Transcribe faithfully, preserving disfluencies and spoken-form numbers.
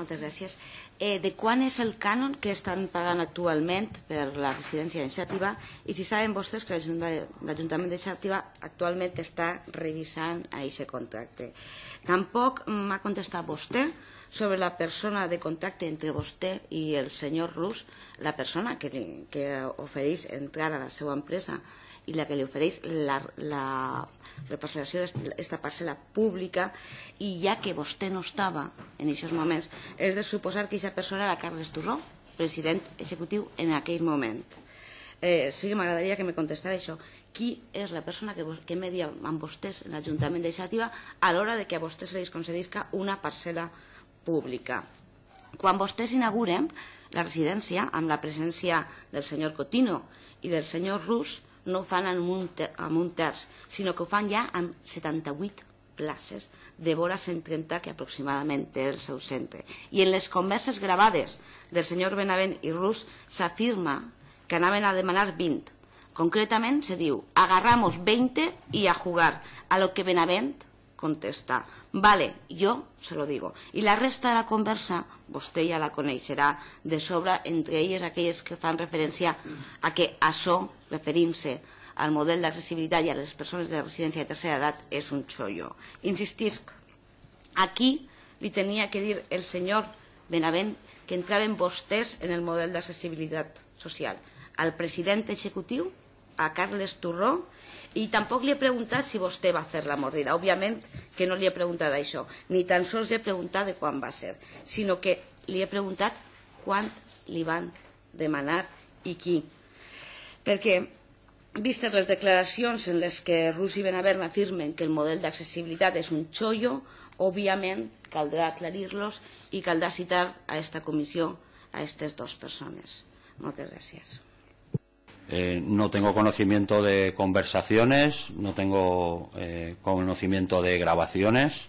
moltes gràcies. Eh, de quan és el cànon que estan pagant actualment per la residència de Xàtiva i si saben vostès que l'Ajuntament de Xàtiva actualment està revisant aquest contracte. Tampoc m'ha contestat vostè sobre la persona de contacte entre vostè i el senyor Rus, la persona que, li, que ofereix entrar a la seva empresa i la que li ofereix la, la reparcel·lació d'esta parcel·la pública, i ja que vostè no estava en aquests moments, és de suposar que aquesta persona era Carles Turró, president executiu en aquell moment. Eh, sí que m'agradaria que me contestara això. Qui és la persona que, que media amb vostès en l'Ajuntament de Xàtiva a l'hora de que a vostès se li concedisca una parcel·la pública? Quan vostès inauguren la residència amb la presència del senyor Cotino i del senyor Rus, no ho fan amb un, ter amb un terç, sinó que ho fan ja amb setanta-vuit places de vora cent trenta que aproximadament té el seu centre. I en les converses gravades del senyor Benavent i Rus s'afirma que anaven a demanar vint. Concretament se diu, agarramos veinte y a jugar, a lo que Benavent contesta, vale, yo se lo digo. I la resta de la conversa, vostè ja la coneixerà de sobre, entre elles aquelles que fan referència a que això, referint-se al model d'accessibilitat i a les persones de residència de tercera edat, és un xollo. Insistisc, aquí li tenia que dir el senyor Benavent que entraven vostès en el model d'accessibilitat social. Al president executiu, a Carles Turró, i tampoc li he preguntat si vostè va fer la mordida. Òbviament que no li he preguntat això, ni tan sols li he preguntat de quan va ser, sinó que li he preguntat quant li van demanar i qui. Perquè, vistes les declaracions en les que Rus i Benavent afirmen que el model d'accessibilitat és un xollo, òbviament caldrà aclarir-los i caldrà citar a esta comissió a aquestes dues persones. Moltes gràcies. Eh, no tengo conocimiento de conversaciones, no tengo eh, conocimiento de grabaciones.